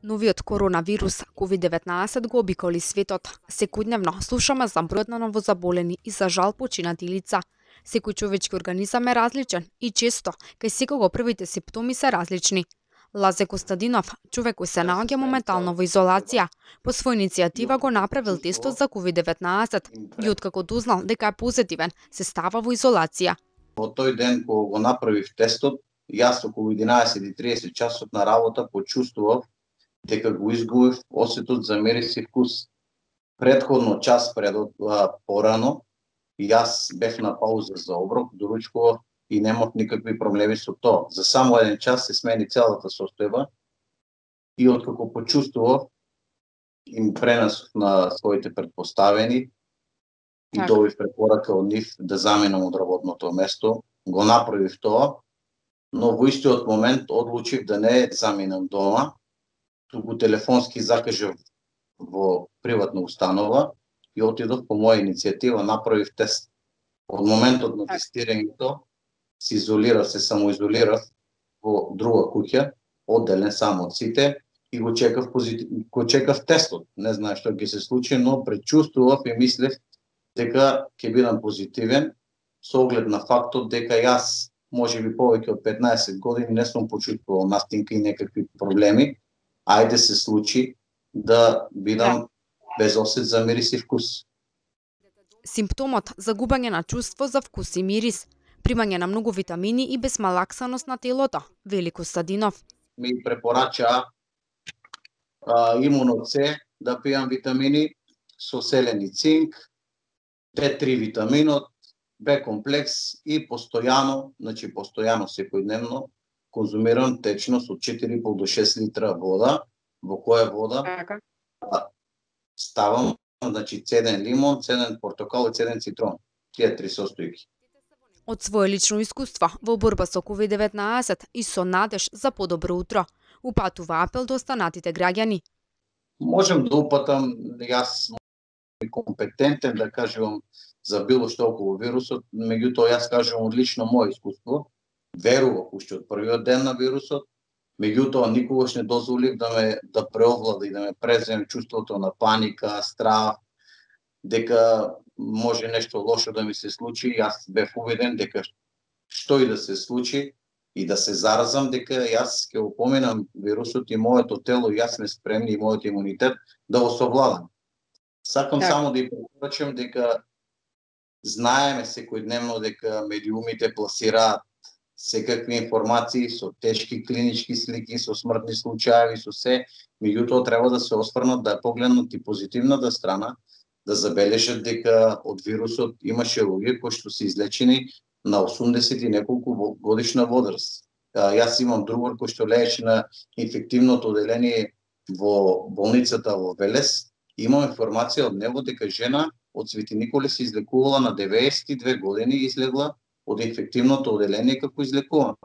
Новиот коронавирус COVID-19 го обиколи светот. Секојдневно слушаме за бројот на новозаболени и за жал починати лица. Секој човечки организам е различен и често кај секого првите симптоми се различни. Лазе Костадинов, човек кој се наоѓа моментално во изолација, по своја иницијатива го направил тестот за COVID-19 и откако дознал дека е позитивен, се става во изолација. Во тој ден кога го направив тестот, јас околу 11:30 часот на работа почувствував дека го изгубив осетот за мирис и вкус. Претходно час порано, јас бев на пауза за оброк, доручкував и немав никакви проблеми со тоа. За само еден час се смени целата состојба и откако почувствував, им пренесов на своите претпоставени и добив препорака од нив да заменам од работното место. Го направив тоа, но во истиот момент одлучив да не заминам дома, туку телефонски закажав во приватна установа и отидов по моја иницијатива, направив тест. Од моментот на тестирањето се изолирав, се самоизолирав во друга куќа, одделен сам од сите и го чекав тестот. Не знаев што ќе се случи, но предчувствував и мислев дека ќе бидам позитивен со оглед на фактот дека јас можеби повеќе од 15 години не сум почувствувал настинка и некакви проблеми. Ајде се случи да бидам без осет за мирис и вкус. Симптомот загубање на чувство за вкус и мирис, примање на многу витамини и безмалаксаност на телото, вели Костадинов. Ми препорачаа имуно С да пијам витамини со селен и цинк, Д3 витаминот, Б комплекс и постојано секојдневно конзумирам течност од 4,5 до 6 литра вода, во која вода ставам цеден лимон, цеден портокал и цеден цитрон. Тие три состојки. Од свое лично искуство во борба со COVID-19 и со надеж за подобро утро, упатува апел до останатите граѓани. Можем да упатам, јас сум компетентен да кажувам за било што околу вирусот, меѓутоа јас кажувам од лично моје искуство. Верував уште од првиот ден на вирусот, меѓутоа никогаш не дозволив да преовлада и да ме преземе чувството на паника, страх, дека може нешто лошо да ми се случи. Јас бев убеден дека што и да се случи и да се заразам, дека јас ќе го поминам вирусот и моето тело и јас сме спремни и мојот имунитет да го совладам. Сакам само да ја препорачам дека знаеме секојдневно дека медиумите пласираат секакви информации со тешки клинички слики, со смртни случаи, со се, меѓутоа треба да се осврнат, да погледнат и позитивната страна, да забележат дека од вирусот имаше луѓе кои што се излечени на 80 и неколку годишна возраст. Јас имам другар кој што лееше на инфективното оделение во болницата во Велес. Имам информација од него дека жена од Свети Николе се излекувала на 92 години и излегла од инфективното оделение како излекувана.